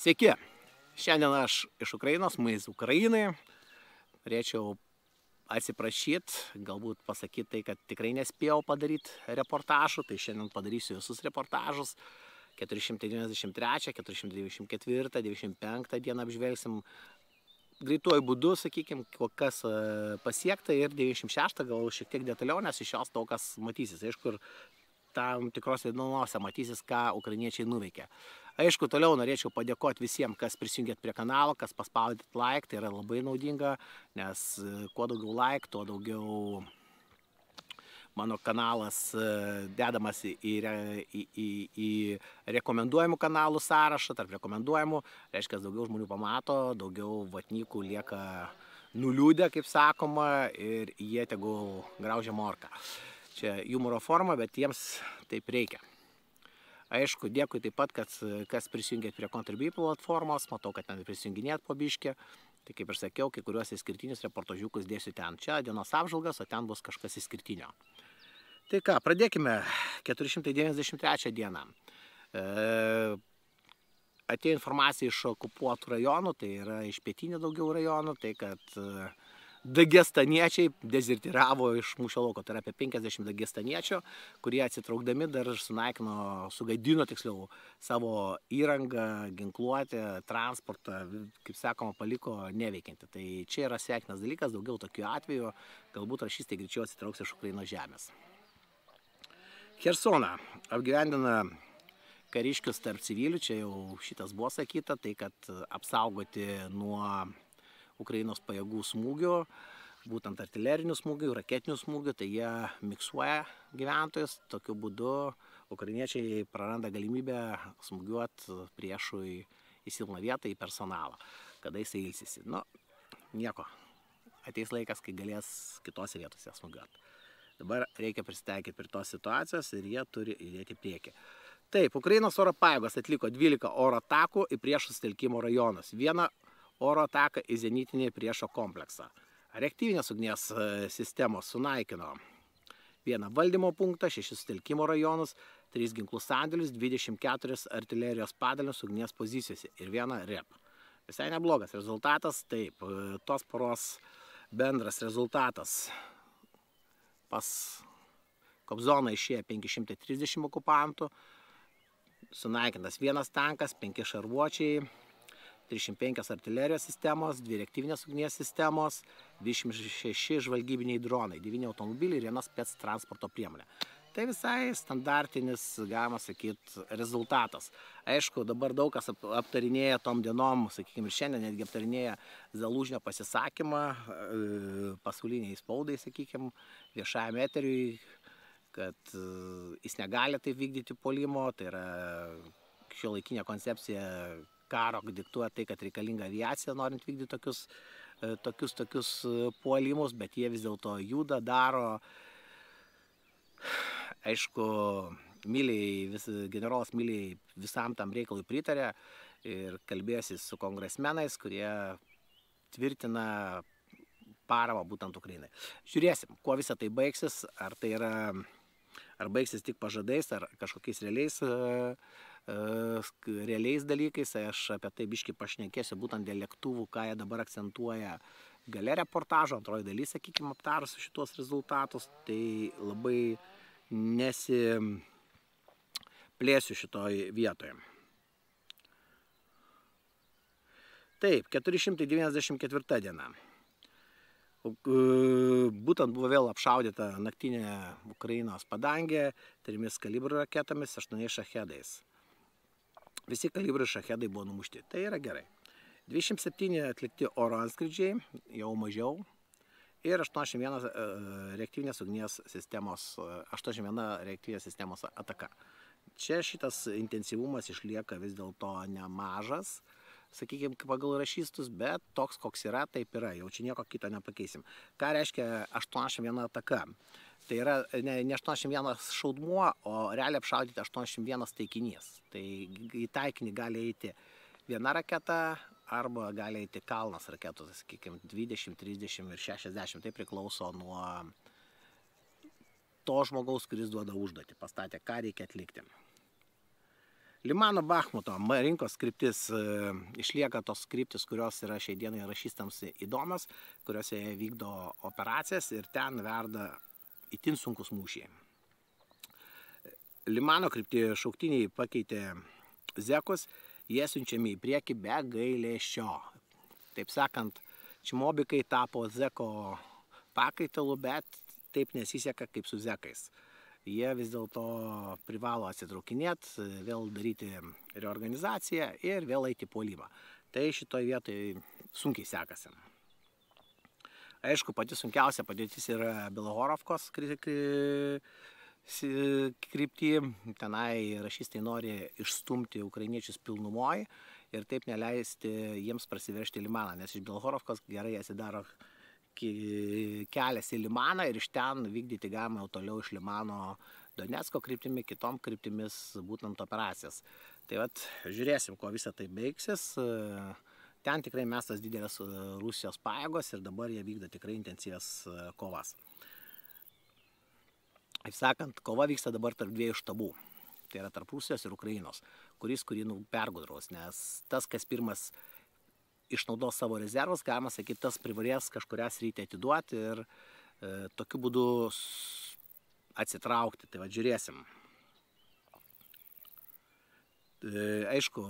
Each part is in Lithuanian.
Sveiki, šiandien aš iš Ukrainos, Maiz Ukrainai. Norėčiau atsiprašyti, galbūt pasakyti tai, kad tikrai nespėjau padaryti reportažų, tai šiandien padarysiu visus reportažus. 493, 494, 95 dieną apžvelgsim greituoju būdu, sakykime, kas pasiekta, ir 96 gal šiek tiek detaliau, nes iš jos daug kas matysis. Aišku, ir tam tikros įdomiausia matysis, ką ukrainiečiai nuveikė. Aišku, toliau norėčiau padėkoti visiems, kas prisijungėt prie kanalo, kas paspaudėt like, tai yra labai naudinga, nes kuo daugiau like, tuo daugiau mano kanalas dedamas į rekomenduojamų kanalų sąrašą. Tarp rekomenduojamų reiškia, daugiau žmonių pamato, daugiau vatnikų lieka nuliūdę, kaip sakoma, ir jie tegul graužia morką. Čia humoro forma, bet jiems taip reikia. Aišku, dėkui taip pat, kas prisijungėt prie Contribui platformos, matau, kad ten prisijunginėt po biškį. Tai kaip ir sakiau, kai kuriuos išskirtinius reportažiukus dėsiu ten. Čia dienos apžvalgas, o ten bus kažkas išskirtinio. Tai ką, pradėkime 493 dieną. Atėjo informacija iš okupuotų rajonų, tai yra iš pietinių daugiau rajonų, tai kad dagestaniečiai dezertyravo iš mūšio lauko. Tai yra apie 50 dagestaniečių, kurie atsitraukdami dar sugadino tiksliau savo įrangą, ginkluotę, transportą, kaip sakoma, paliko neveikiantį. Tai čia yra sveikinas dalykas, daugiau tokių atvejų, galbūt rašystai greičiau atsitrauks iš Ukrainos žemės. Chersoną apgyvendina kariškius tarp civilių, čia jau šitas buvo sakyta, tai kad apsaugoti nuo Ukrainos pajėgų smūgių, būtent artilerinių smūgių, raketinių smūgių, tai jie miksuoja gyventojus. Tokiu būdu ukrainiečiai praranda galimybę smūgiuoti priešui į silpną vietą, į personalą, kada jisai ilsisi. Nu, nieko, ateis laikas, kai galės kitose vietose smūgiuoti. Dabar reikia prisitaikyti prie tos situacijos ir jie turi įdėti priekį. Taip, Ukrainos oro pajėgos atliko 12 oro atakų į priešų sutelkimo rajonus. Vieną oro ataką į zenitinį priešo kompleksą. Reaktyvinės ugnies sistemos sunaikino vieną valdymo punktą, 6 sutelkimo rajonus, 3 ginklų sandėlius, 24 artilerijos padalinius ugnies pozicijose ir vieną rep. Visai neblogas rezultatas, taip, tos poros bendras rezultatas. Pas Kobzoną išėjo 530 okupantų, sunaikintas vienas tankas, 5 šarvuočiai, 305 artilerijos sistemos, 2 reaktyvinės ugnies sistemos, 26 žvalgybiniai dronai, 9 automobiliai ir 1 spec transporto priemonė. Tai visai standartinis, galima sakyti, rezultatas. Aišku, dabar daug kas aptarinėja tom dienom, sakykime, ir šiandien netgi aptarinėja Zalužnio pasisakymą pasauliniai spaudai, sakykime, viešajam eteriui, kad jis negali taip vykdyti puolimo, tai yra šiuolaikinė koncepcija karo diktuoja tai, kad reikalinga aviacija, norint vykdyti tokius puolimus, bet jie vis dėlto juda, daro. Aišku, generolas Miliai visam tam reikalui pritarė ir kalbėjosi su kongresmenais, kurie tvirtina paramą būtent Ukrainai. Žiūrėsim, kuo visą tai baigsis, ar baigsis tik pažadais, ar kažkokiais realiais dalykais. Aš apie tai biškį pašnekėsiu būtent dėl lėktuvų, ką jie dabar akcentuoja gale reportažo, antroji dalis, sakykime, aptarus šitos rezultatus, tai labai nesiplėsiu šitoj vietoje. Taip, 494 diena. Būtent buvo vėl apšaudyta naktinė Ukrainos padangė 3 kalibrų raketomis, 8 šachedais. Visi kalibrų šachedai buvo numušti. Tai yra gerai. 27 atlikti oro antskridžiai, jau mažiau. Ir 81 reaktyvinės ugnies sistemos ataka. Čia šitas intensyvumas išlieka vis dėlto nemažas, sakykime, pagal rašystus, bet toks, koks yra, taip yra. Jau čia nieko kito nepakeisim. Ką reiškia 81 ataka? Tai yra ne 81 šaudmuo, o realiai apšaudyti 81 taikinys. Tai į taikinį gali eiti viena raketa arba gali eiti kalnas raketų, sakykime, 20, 30 ir 60. Tai priklauso nuo to žmogaus, kuris duoda užduotį, pastatė, ką reikia atlikti. Limano Bachmuto rinkos kryptis išlieka tos kryptis, kurios yra šiai dienai rašystams įdomios, kuriuose jie vykdo operacijas ir ten verda itin sunkus mūšiai. Limano kryptį šauktiniai pakeitė zekus, jie siunčiami į priekį be gailesčio. Taip sakant, čimobikai tapo zeko pakaitalu, bet taip nesiseka kaip su zekais. Jie vis dėlto privalo atsitraukinėti, vėl daryti reorganizaciją ir vėl eiti puolimą. Tai šitoje vietoje sunkiai sekasi. Aišku, pati sunkiausia padėtis yra Belohorovkos kryptį. Tenai rašystai nori išstumti ukrainiečius pilnumoje ir taip neleisti jiems prasiveržti Limaną, nes iš Belohorovkos gerai atsidaro kelias į Limaną ir iš ten vykdyti galima toliau iš Limano Donecko kryptimi, kitom kryptimis būtent operacijas. Tai vat, žiūrėsim, kuo visą tai baigsis. Ten tikrai mestas didelės Rusijos pajėgos ir dabar jie vykdo tikrai intensyvias kovas. Kaip sakant, kova vyksta dabar tarp dviejų štabų. Tai yra tarp Rusijos ir Ukrainos, kurį pergudraus, nes tas, kas pirmas išnaudos savo rezervus, galima sakyti, tas privalės kažkurią sritį atiduoti ir tokiu būdu atsitraukti. Tai va, žiūrėsim. Aišku,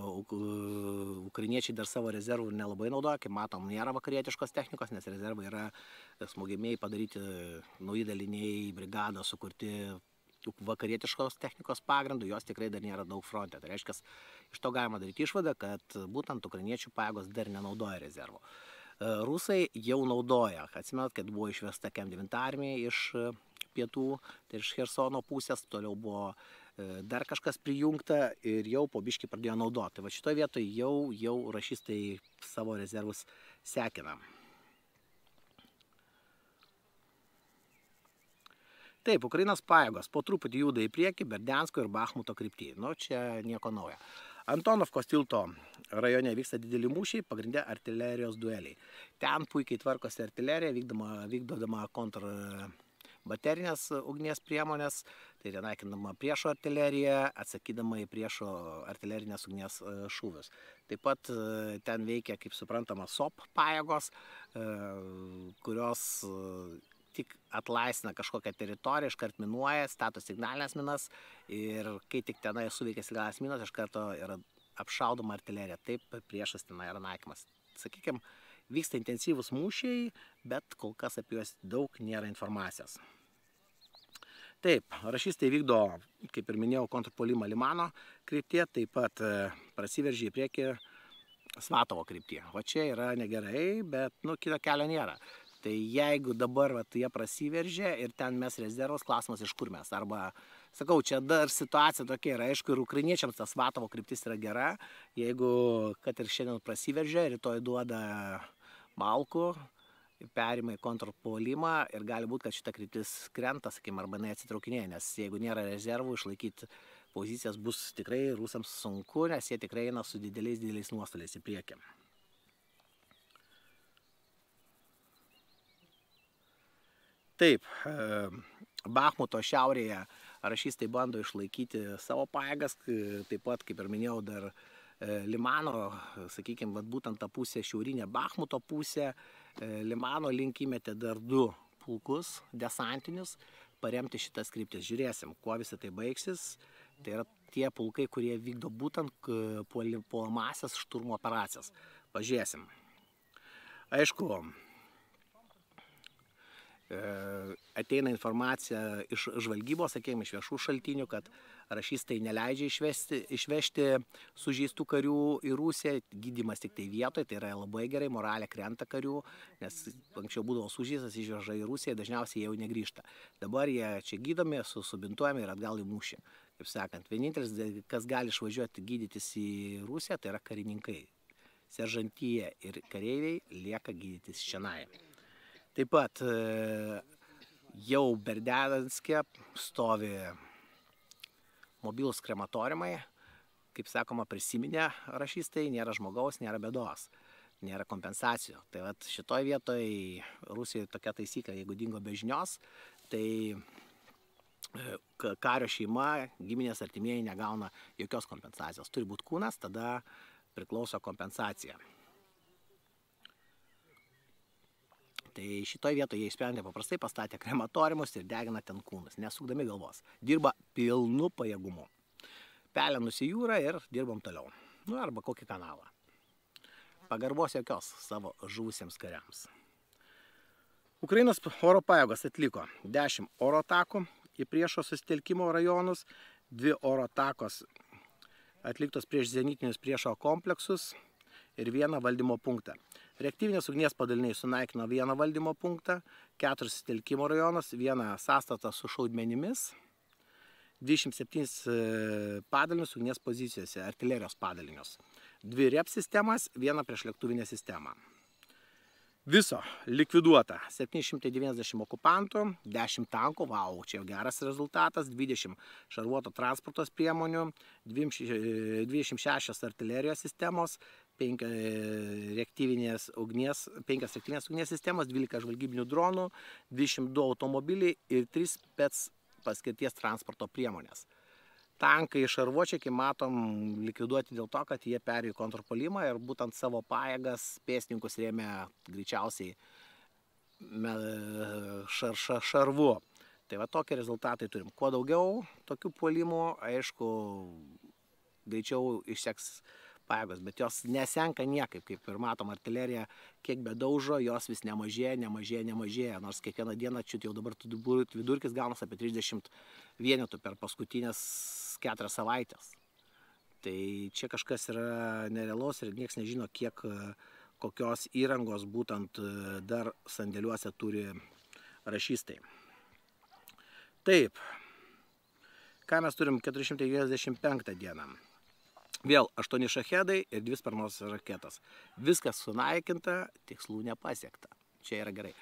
ukrainiečiai dar savo rezervų nelabai naudoja, kaip matom, nėra vakarietiškos technikos, nes rezervai yra smogiamieji padaryti nauji daliniai, brigados sukurti vakarietiškos technikos pagrindų, jos tikrai dar nėra daug fronte. Tai reiškia, iš to galima daryti išvadą, kad būtent ukrainiečių pajėgos dar nenaudoja rezervų. Rusai jau naudoja. Atsimenat, kad buvo išvesta KM9 armija iš pietų, tai iš Chersono pusės, toliau buvo dar kažkas prijungta ir jau po biškį pradėjo naudoti. Tai va šitoje vietoje jau rašystai savo rezervus sekina. Taip, Ukrainos pajėgos po truputį juda į priekį Berdiansko ir Bachmuto kryptį. Nu, čia nieko naujo. Antonovkos tilto rajone vyksta dideli mūšiai, pagrinde artilerijos dueliai. Ten puikiai tvarkosi artilerija, vykdodama kontrbaterinės ugnies priemonės, tai yra naikinama priešo artilerija, atsakydama į priešo artilerinės ugnies šūvius. Taip pat ten veikia, kaip suprantama, SOP pajėgos, kurios tik atlaisvina kažkokią teritoriją, iškart minuoja, stato signalinės minas ir kai tik tenai suveikia signalinės minos, iš karto yra apšaudoma artilerija. Taip priešas tenai yra naikimas. Sakykime, vyksta intensyvūs mūšiai, bet kol kas apie juos daug nėra informacijos. Taip, rašystai vykdo, kaip ir minėjau, kontrpuolimą Limano kryptyje, taip pat prasiveržė į priekį Svatovo kryptyje. O čia yra negerai, bet kito kelio nėra. Tai jeigu dabar jie prasiveržė ir ten mes rezervas, klausimas iš kur mes. Arba, sakau, čia dar situacija tokia yra, aišku, ir ukrainiečiams tas Svatovo kryptis yra gera. Jeigu, kad ir šiandien prasiveržė, rytoj duoda malkų, perima į kontrpuolimą ir gali būti, kad šita kryptis krenta, sakykime, arba atsitraukinėja, nes jeigu nėra rezervų, išlaikyti pozicijas bus tikrai rusams sunku, nes jie tikrai eina su dideliais nuostoliais į priekį. Taip, Bachmuto šiaurėje rašystai bando išlaikyti savo pajėgas, taip pat, kaip ir minėjau, dar Limano, sakykime, būtent ta pusė, šiaurinė Bachmuto pusė, Limano link įmetė dar 2 pulkus desantinius paremti šitas kryptis. Žiūrėsim, kuo visą tai baigsis. Tai yra tie pulkai, kurie vykdo būtent puolamąsias šturmo operacijas. Pažiūrėsim. Aišku, ateina informacija iš žvalgybos, sakykime, iš viešų šaltinių, kad rašystai neleidžia išvežti sužeistų karių į Rusiją, gydymas tik tai vietoje, tai yra labai gerai, moralė krenta karių, nes anksčiau būdavo sužeistas, išveža į Rusiją, dažniausiai jau negrįžta. Dabar jie čia gydomi, subintuojami ir atgal į mūšį. Kaip sakant, vienintelis, kas gali išvažiuoti gydytis į Rusiją, tai yra karininkai. Seržantija ir kareiviai lieka gydytis šiandien. Taip pat jau Berdianske stovi mobilūs krematoriumai, kaip sakoma, prisiminė rašystai, nėra žmogaus, nėra bėdos, nėra kompensacijų. Tai vat šitoj vietoj Rusijoje tokia taisyklė, jeigu dingo be žinios, tai kario šeima, giminės artimieji negauna jokios kompensacijos. Turi būti kūnas, tada priklauso kompensacija. Tai šitoje vietoje jie išsprendė paprastai, pastatė krematoriumus ir degina ten kūnus, nesukdami galvos. Dirba pilnu pajėgumu. Pelenus į jūrą ir dirbam toliau. Arba kokį kanalą. Pagarbos jokios savo žuvusiems kariams. Ukrainos oro pajėgos atliko 10 oro atakų į priešo susitelkimo rajonus, 2 oro atakos atliktos prieš zenitinius priešo kompleksus ir 1 valdymo punktą. Reaktyvinės ugnies padaliniai sunaikino 1 valdymo punktą, 4 susitelkimo rajonus, 1 sąstatą su šaudmenimis, 27 padalinius ugnies pozicijose, artilerijos padalinius, 2 REP sistemas, 1 priešlėktuvinę sistemą. Viso likviduota 790 okupantų, 10 tankų, vau, čia geras rezultatas, 20 šarvuoto transportos priemonių, 26 artilerijos sistemos, 5 reaktyvinės ugnies sistemos, 12 žvalgybinių dronų, 22 automobiliai ir 3 spec paskirties transporto priemonės. Tankai šarvuočiai, kaip matom, likviduoti dėl to, kad jie perėjo kontrpuolimą ir būtent savo pajėgas pėstininkus rėmė greičiausiai šarvu. Tai va tokie rezultatai turim. Kuo daugiau tokių puolimų, aišku, greičiau išseks pajėgos, bet jos nesenka niekaip, kaip ir matom, artilerija kiek bedaužo, jos vis nemažėja, nors kiekvieną dieną čia jau dabar vidurkis gaunas apie 30 vienetų per paskutinės 4 savaitės. Tai čia kažkas yra nerealaus ir niekas nežino, kiek kokios įrangos būtent dar sandėliuose turi rašystai. Taip, ką mes turim 495 dieną. Vėl 8 šachedai ir 2 sparnuotos raketos. Viskas sunaikinta, tikslų nepasiekta. Čia yra gerai.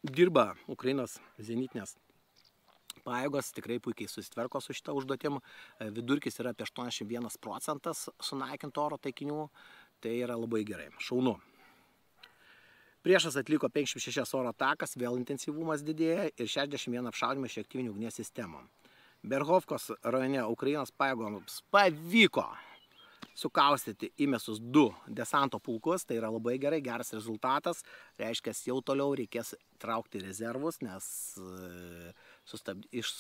Dirba Ukrainos zenitinės pajėgos, tikrai puikiai susitvarko su šitą užduotim. Vidurkis yra apie 81% sunaikinto oro taikinių. Tai yra labai gerai. Šaunu. Priešas atliko 56 oro atakas, vėl intensyvumas didėja ir 61 apšaudymą iš reaktyvinių ugnies sistemų. Berhovkos rajone Ukrainos pajėgoms pavyko sukaustyti įmesus 2 desanto pulkus, tai yra labai gerai, geras rezultatas, reiškia, jau toliau reikės traukti rezervus, nes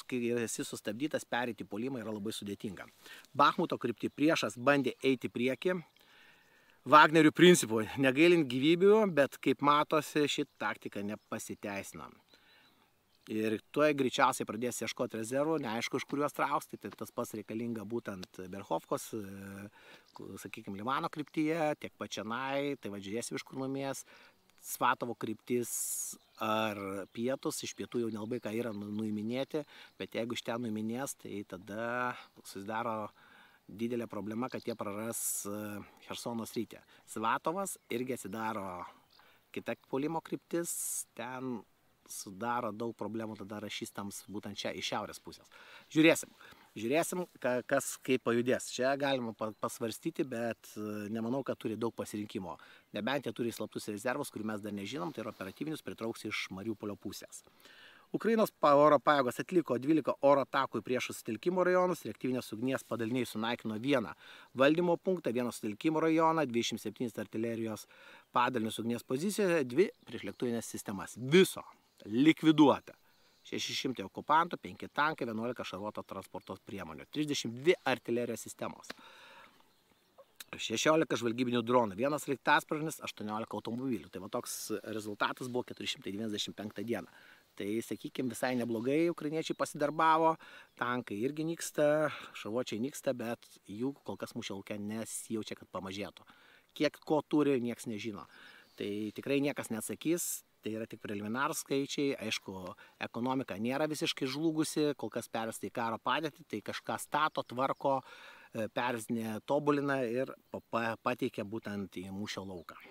kai esi sustabdytas, pereiti puolimą yra labai sudėtinga. Bachmuto kryptį priešas bandė eiti prieki, Wagnerių principų, negailint gyvybių, bet kaip matosi, ši taktika nepasiteisina. Ir tuo greičiausiai pradės ieškoti rezervų, neaišku, iš kuriuos trauks, tai tas pats reikalinga būtent Berhovkos, sakykime, Limano kryptyje, tiek pačianai, tai žiūrėsim, iš kur numės, Svatovo kryptis ar pietus, iš pietų jau nelabai ką yra nuiminėti, bet jeigu iš ten nuiminės, tai tada susidaro didelė problema, kad jie praras Chersono sritį. Svatovas irgi atsidaro kita puolimo kryptis, ten sudaro daug problemų tada rašystams būtent čia iš šiaurės pusės. Žiūrėsim, kas kaip pajudės. Čia galima pasvarstyti, bet nemanau, kad turi daug pasirinkimo. Nebent jie turi slaptus rezervus, kurių mes dar nežinom, tai yra operatyvinius pritrauks iš Mariupolio pusės. Ukrainos oro pajėgos atliko 12 oro atakų į priešo susitelkimo rajonus, reaktyvinės ugnies padaliniai sunaikino 1 valdymo punktą, 1 susitelkimo rajoną, 27 artilerijos padalinius ugnies pozicijoje, 2 priešlėktuvinės sistemas. Viso likviduota. 600 okupantų, 5 tankai, 11 šarvuoto transporto priemonių, 32 artilerijos sistemos, 16 žvalgybinių dronų, 1 sraigtasparnis, 18 automobilių. Tai va toks rezultatas buvo 495 dieną. Tai, sakykime, visai neblogai ukrainiečiai pasidarbavo, tankai irgi nyksta, šarvuočiai nyksta, bet jų kol kas mūšio lauke nesijaučia, kad pamažėtų. Kiek ko turi, niekas nežino. Tai tikrai niekas neatsakys. Tai yra tik preliminarūs skaičiai, aišku, ekonomika nėra visiškai žlugusi, kol kas pervesta į karo padėtį, tai kažką stato, tvarko, pervezinė, tobulina ir pateikia būtent į mūšio lauką.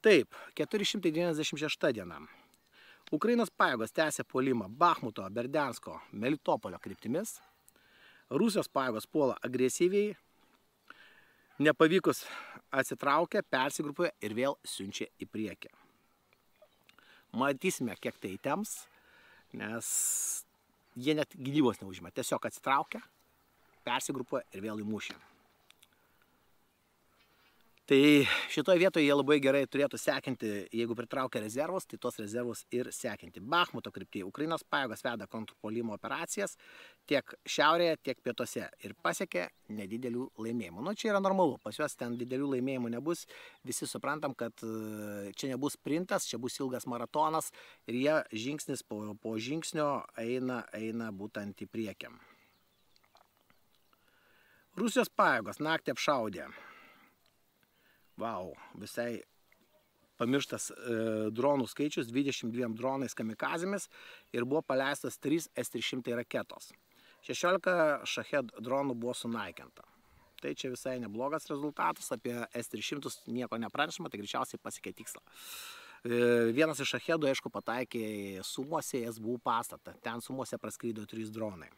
Taip, 496 diena. Ukrainos pajėgos tęsė puolimą Bachmuto, Berdiansko, Melitopolio kryptimis. Rusijos pajėgos puola agresyviai, nepavykus atsitraukia, persigrupuoja ir vėl siunčia į priekį. Matysime, kiek tai įtems, nes jie net gynybos neužima, tiesiog atsitraukia, persigrupuoja ir vėl į mūšį. Tai šitoje vietoje jie labai gerai turėtų sekinti, jeigu pritraukia rezervus, tai tos rezervus ir sekinti. Bachmuto kryptyje Ukrainos pajėgos veda kontrpuolimo operacijas tiek šiaurėje, tiek pietuose ir pasiekė nedidelių laimėjimų. Nu, čia yra normalu, pas juos ten didelių laimėjimų nebus, visi suprantam, kad čia nebus sprintas, čia bus ilgas maratonas ir jie žingsnis po žingsnio eina būtent į priekį. Rusijos pajėgos naktį apšaudė. Vau, visai pamirštas dronų skaičius, 22 dronais kamikazėmis ir buvo paleistas 3 S-300 raketos. 16 Shahed dronų buvo sunaikinta. Tai čia visai neblogas rezultatas, apie S-300 nieko nepranešama, tai greičiausiai pasiekė tikslą. Vienas iš Shahedų, aišku, pataikė Sumuose į SBU pastatą, ten Sumuose praskrydo 3 dronai.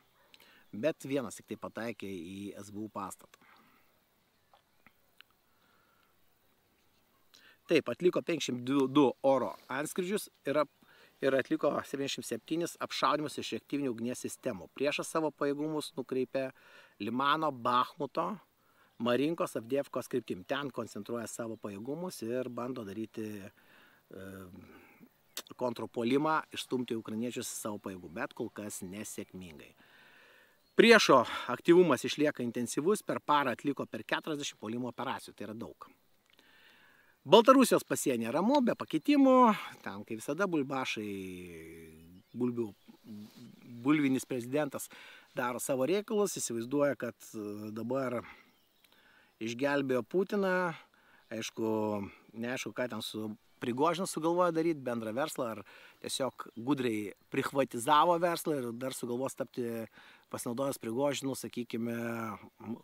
Bet vienas tik tai pataikė į SBU pastatą. Taip, atliko 52 oro antskrydžius ir atliko 77 apšaudymus iš reaktyvinių ugnies sistemų. Priešas savo pajėgumus nukreipė Limano, Bachmuto, Marinkos, Avdievkos kryptim. Ten koncentruoja savo pajėgumus ir bando daryti kontrpuolimą, išstumti ukrainiečius savo pajėgų, bet kol kas nesėkmingai. Priešo aktyvumas išlieka intensyvus, per parą atliko per 40 puolimo operacijų, tai yra daug. Baltarusijos pasienė ramu, be pakitimų, ten kaip visada bulbašai, bulvinis prezidentas daro savo reikalus, įsivaizduoja, kad dabar išgelbėjo Putiną, aišku, neaišku, ką ten su Prigožinu sugalvoja daryti, bendrą verslą, ar tiesiog gudriai prichvatizavo verslą ir dar sugalvos tapti pasinaudojęs Prigožinu, sakykime,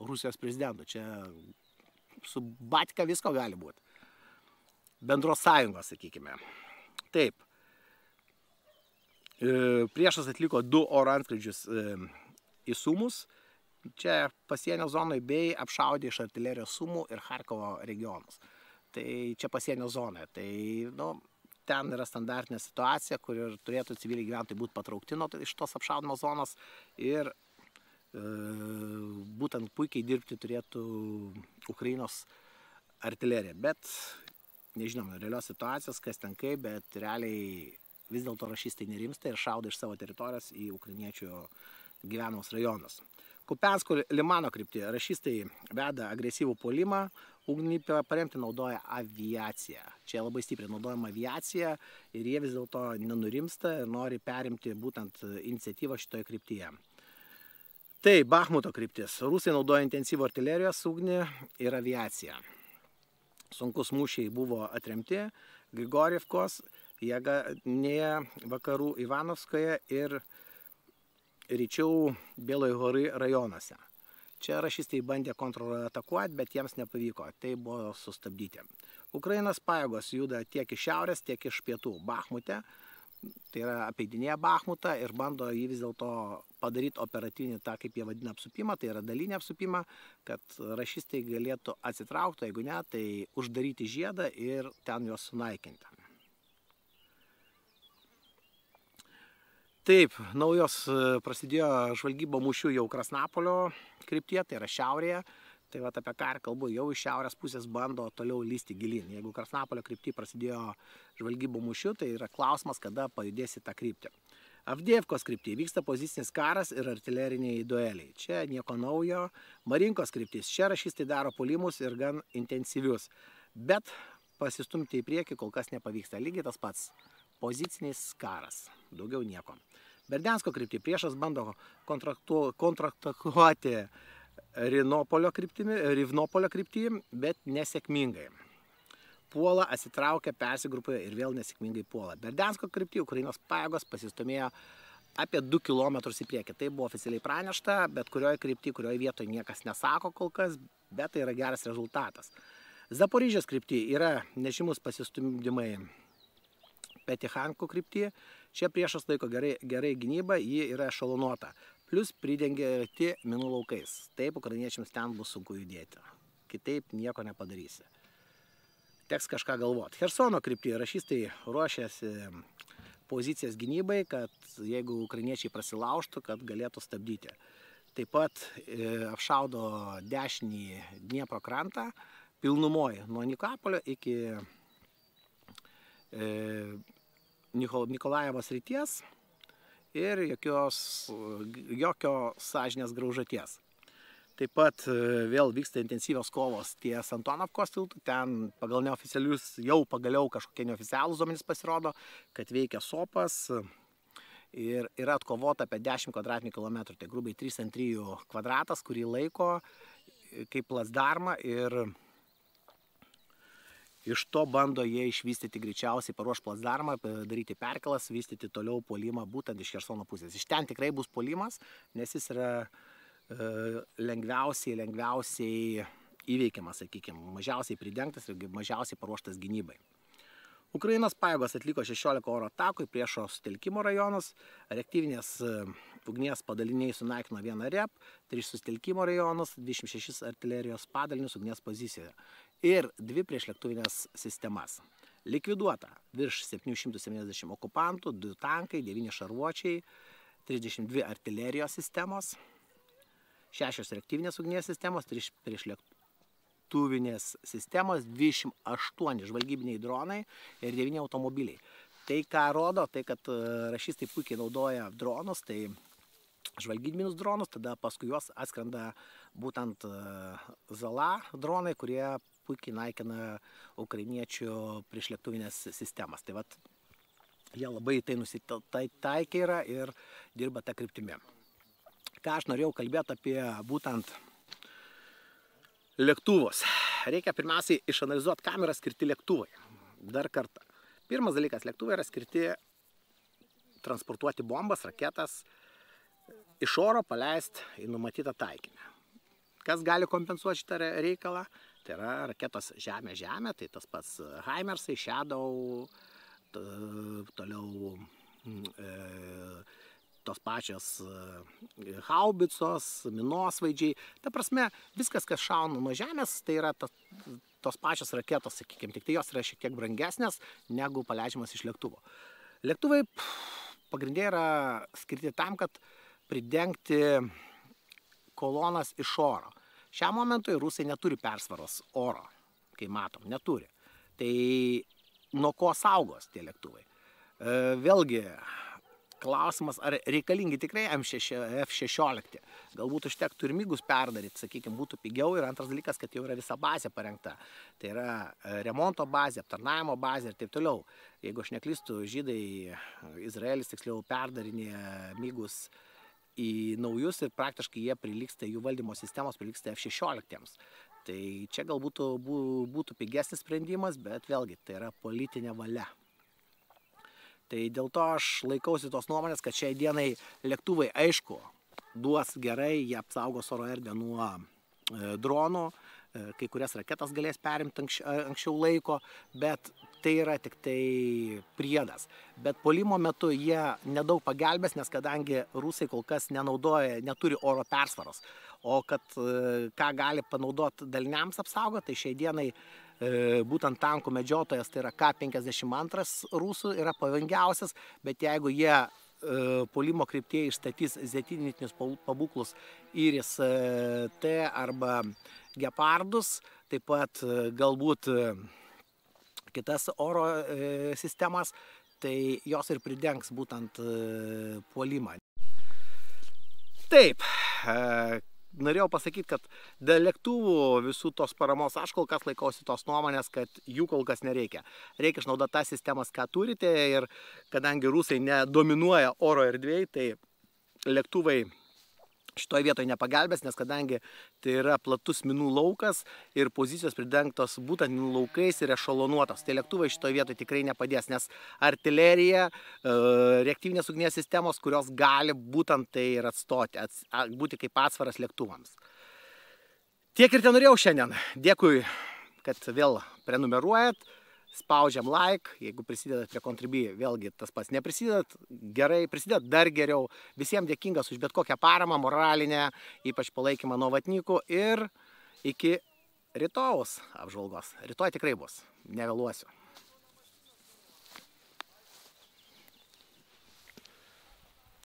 Rusijos prezidentu. Čia su batka visko gali būti. Bendros sąjungos, sakykime. Taip. Priešas atliko 2 oro antskrydžius į Sumus. Čia pasienio zonoje bei apšaudė iš artilerijos Sumų ir Charkovo regionus. Tai čia pasienio zonoje. Tai, nu, ten yra standartinė situacija, kur ir turėtų civiliai gyventojai būti patraukti iš tos apšaudimo zonos ir būtent puikiai dirbti turėtų Ukrainos artilerija. Bet nežinom realios situacijos, kas ten kaip, bet realiai vis dėlto rašistai nerimsta ir šaudo iš savo teritorijos į ukrainiečių gyvenamus rajonus. Kupiansko Limano kryptyje rašistai veda agresyvų puolimą, ugnį paremti naudoja aviaciją. Čia labai stipriai naudojama aviacija ir jie vis dėlto nenurimsta ir nori perimti būtent iniciatyvą šitoje kryptyje. Tai Bachmuto kryptis. Rusai naudoja intensyvų artilerijos ugnį ir aviaciją. Sunkus mūšiai buvo atremti Grigorjevkos, Jėganėje, vakarų Ivanovskoje ir ryčiau Bėlojo horai rajonuose. Čia rašistai bandė kontratakuoti, bet jiems nepavyko, tai buvo sustabdyti. Ukrainos pajėgos juda tiek iš šiaurės, tiek iš pietų Bachmute, tai yra apeidinėja Bachmutą ir bando jį vis dėlto padaryti operatyvinį, tą kaip jie vadina apsupimą, tai yra dalinį apsupimą, kad rašistai galėtų atsitraukti, jeigu ne, tai uždaryti žiedą ir ten juos sunaikinti. Taip, naujos prasidėjo žvalgybo mūšių jau Krasnapolio kryptyje, tai yra šiaurėje. Tai va apie ką kalbu, jau iš šiaurės pusės bando toliau lysti gilyn. Jeigu Krasnapolio kryptyje prasidėjo žvalgybo mūšių, tai yra klausimas, kada pajudės į tą kryptį. Avdievkos kryptyje vyksta pozicinis karas ir artileriniai dueliai. Čia nieko naujo. Marinkos kryptis. Čia rašistai daro puolimus ir gan intensyvius. Bet pasistumti į priekį kol kas nepavyksta. Lygiai tas pats. Pozicinis karas. Daugiau nieko. Berdiansko kryptyje priešas bando kontratakuoti Rivnopolio kryptyje, bet nesėkmingai. Puola, atsitraukia, persigrupuoja ir vėl nesėkmingai puola. Berdiansko kryptyje Ukrainos pajėgos pasistumėjo apie 2 km į priekį. Tai buvo oficialiai pranešta, bet kurioje kryptyje, kurioje vietoje niekas nesako kol kas, bet tai yra geras rezultatas. Zaporižės kryptyje yra nežymus pasistumdymai Petihanko kryptyje. Čia priešas laiko gerai gynybą, ji yra ešalonuota. Plus pridengti minų laukais. Taip, ukrainiečiams ten bus sunku judėti. Kitaip nieko nepadarysi. Teks kažką galvoti. Hersono kryptyje rašistai ruošiasi pozicijas gynybai, kad jeigu ukrainiečiai prasilaužtų, kad galėtų stabdyti. Taip pat apšaudo dešinį Dniepro krantą, pilnumoje nuo Nikopolio iki Nikolajevo srities ir jokio sąžinės graužaties. Taip pat vėl vyksta intensyvios kovos ties Antonovkos tiltų, ten pagal neoficialius, jau pagaliau kažkokie neoficialūs duomenys pasirodo, kad veikia SOPAS ir yra atkovota apie 10 kvadratinių kilometrų, tai grubiai 3 ant 3 kvadratas, kurį laiko kaip placdarmą ir iš to bando jie išvystyti greičiausiai, paruoš placdarmą, daryti perkelas, vystyti toliau puolimą būtent iš Chersono pusės. Iš ten tikrai bus puolimas, nes jis yra lengviausiai įveikiamas, sakykime, mažiausiai pridengtas ir mažiausiai paruoštas gynybai. Ukrainos pajėgos atliko 16 oro atakų į priešo sutelkimo rajonus, reaktyvinės ugnies padaliniai sunaikino 1 REP, 3 sutelkimo rajonus, 26 artilerijos padalinius ugnies pozicijoje ir 2 priešlėktuvinės sistemas. Likviduota virš 770 okupantų, 2 tankai, 9 šarvuočiai, 32 artilerijos sistemos, 6 reaktyvinės ugnies sistemos, 3 priešlėktuvinės sistemos, 28 žvalgybiniai dronai ir 9 automobiliai. Tai ką rodo, tai kad rašistai puikiai naudoja dronus, tai žvalgybinius dronus, tada paskui juos atskrenda būtent Zala dronai, kurie puikiai naikina ukrainiečių priešlėktuvinės sistemas. Tai vat, jie labai tai nusitaikė yra ir dirba tą kryptimį. Ką aš norėjau kalbėti apie būtent lėktuvus. Reikia pirmiausiai išanalizuoti, kam yra skirti lėktuvai. Dar kartą. Pirmas dalykas, lėktuvai yra skirti transportuoti bombas, raketas, iš oro paleisti į numatytą taikinį. Kas gali kompensuoti šitą reikalą? Tai yra raketos žemė-žemė, tai tas pats Haimersai, Shadow, toliau tos pačios haubicos, minosvaidžiai. Ta prasme, viskas, kas šauna nuo žemės, tai yra tos pačios raketos, sakykime, tik tai jos yra šiek tiek brangesnės negu paleidžiamas iš lėktuvo. Lėktuvai pagrindė yra skirti tam, kad pridengti kolonas iš oro. Šiam momentui rusai neturi persvaros oro, kai matom, neturi. Tai nuo ko saugos tie lėktuvai? Vėlgi, klausimas, ar reikalingi tikrai F-16. Galbūt užtektų ir migus perdaryti, sakykime, būtų pigiau. Ir antras dalykas, kad jau yra visa bazė parengta. Tai yra remonto bazė, aptarnavimo bazė ir taip toliau. Jeigu aš neklystu, žydai, Izraelis tiksliau perdarinėja migus į naujus ir praktiškai jie prilygsta, jų valdymo sistemos prilygsta F-16. Tai čia galbūt būtų pigesnis sprendimas, bet vėlgi tai yra politinė valia. Tai dėl to aš laikausi tos nuomonės, kad šiai dienai lėktuvai, aišku, duos gerai, jie apsaugos oro erdvę nuo dronų, kai kurias raketas galės perimti anksčiau laiko, bet tai yra tik tai priedas. Bet puolimo metu jie nedaug pagelbės, nes kadangi rusai kol kas neturi oro persvaros, o kad ką gali panaudoti daliniams apsaugoti, tai šiai dienai būtent tankų medžiotojas, tai yra K-52 rusų, yra pavojingiausias, bet jeigu jie puolimo kryptyje išstatys zetinitinius pabūklus Iris T arba Gepardus, taip pat galbūt kitas oro sistemas, tai jos ir pridengs būtent puolimą. Taip, norėjau pasakyti, kad dėl lėktuvų visų tos paramos aš kol kas laikausi tos nuomonės, kad jų kol kas nereikia. Reikia išnaudoti tas sistemas, ką turite, ir kadangi rusai nedominuoja oro erdvėje, tai lėktuvai šitoje vietoje nepagelbės, nes kadangi tai yra platus minų laukas ir pozicijos pridengtos būtent minų laukais ir ešalonuotos, tai lėktuvai šitoje vietoje tikrai nepadės, nes artilerija, reaktyvinės ugnies sistemos, kurios gali būtent tai ir atstoti, būti kaip atsvaras lėktuvams. Tiek ir ten norėjau šiandien. Dėkui, kad vėl prenumeruojat. Spaudžiam like, jeigu prisidedat prie Contribui, vėlgi tas pats neprisidedat, gerai, prisidedat dar geriau. Visiems dėkingas už bet kokią paramą, moralinę, ypač palaikymą nuo vatnikų, ir iki rytojaus apžvalgos. Rytoj tikrai bus, nevėluosiu.